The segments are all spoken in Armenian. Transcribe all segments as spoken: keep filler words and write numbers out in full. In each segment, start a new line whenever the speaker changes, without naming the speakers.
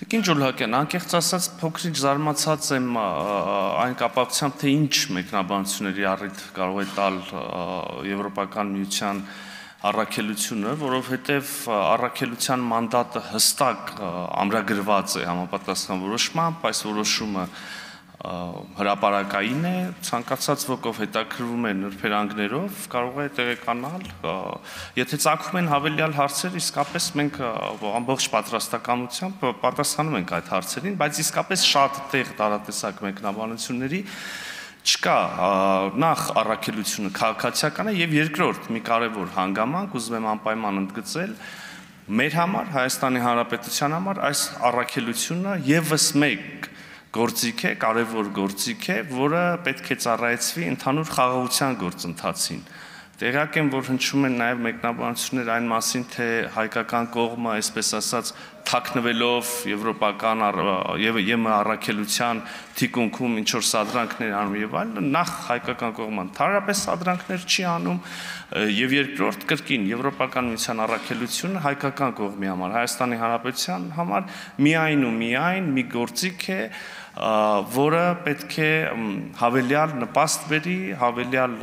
Տիկին Ջուլհակյան, անկեղծ ասած փոքրինչ զարմացած եմ այն կապակցությամբ, թե ինչ մեկնաբանությունների առիթ կարող է տալ Եվրոպական միության առաքելությունը, որովհետև առաքելության մանդատը հստակ ամրագրված է համապատասխան որոշմամբ, այս որոշումը հրապարակային է, ցանկացած ոքով հետաքրվում է նրբերանգներով, կարող է տեղեկանալ, եթե ծագում են հավելյալ հարցեր, իսկապես մենք ամբողջ պատրաստակամությամբ պատասխանում ենք այդ հարցերին, բայց իսկապես շատ տեղ տարատեսակ մեկնաբանությունների չկա, նախ առաքելությունը քաղաքացիական է եւ երկրորդ մի կարեւոր հանգամանք, ուզում եմ անպայման ընդգծել, մեր համար, Հայաստանի Հանրապետության համար այս առաքելությունը եւս մեկ գործիք է, կարևոր գործիք է, որը պետք է ծառայեցվի ընդհանուր խաղաղության գործընթացին։ Տեղյակ եմ, որ հնչում են նաև մեկնաբանություններ այն մասին, թե հայկական կողմը, այսպես ասած, թաքնվելով եվրոպական եւ ԵՄ առաքելության թիկունքում ինչ որ սադրանքներ անում եւ այլն, նախ հայկական կողմը ընդհանրապես սադրանքներ չի անում եւ երկրորդ կրկին Եվրոպական միության առաքելությունը հայկական կողմի համար, Հայաստանի Հանրապետության համար միայն ու միայն մի գործիք է, որը պետք է հավելյալ նպաստ բերի, հավելյալ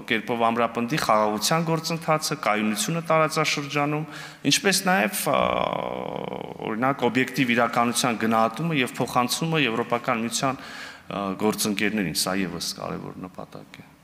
կերպով ամրապնդի խաղաղության գործընթացը, կայունությունը տարածաշրջանում, ինչպես նաև օրինակ օբյեկտիվ իրականության գնահատումը եւ փոխանցումը Եվրոպական միության գործընկերներին, սա եւս կարեւոր նպատակ է։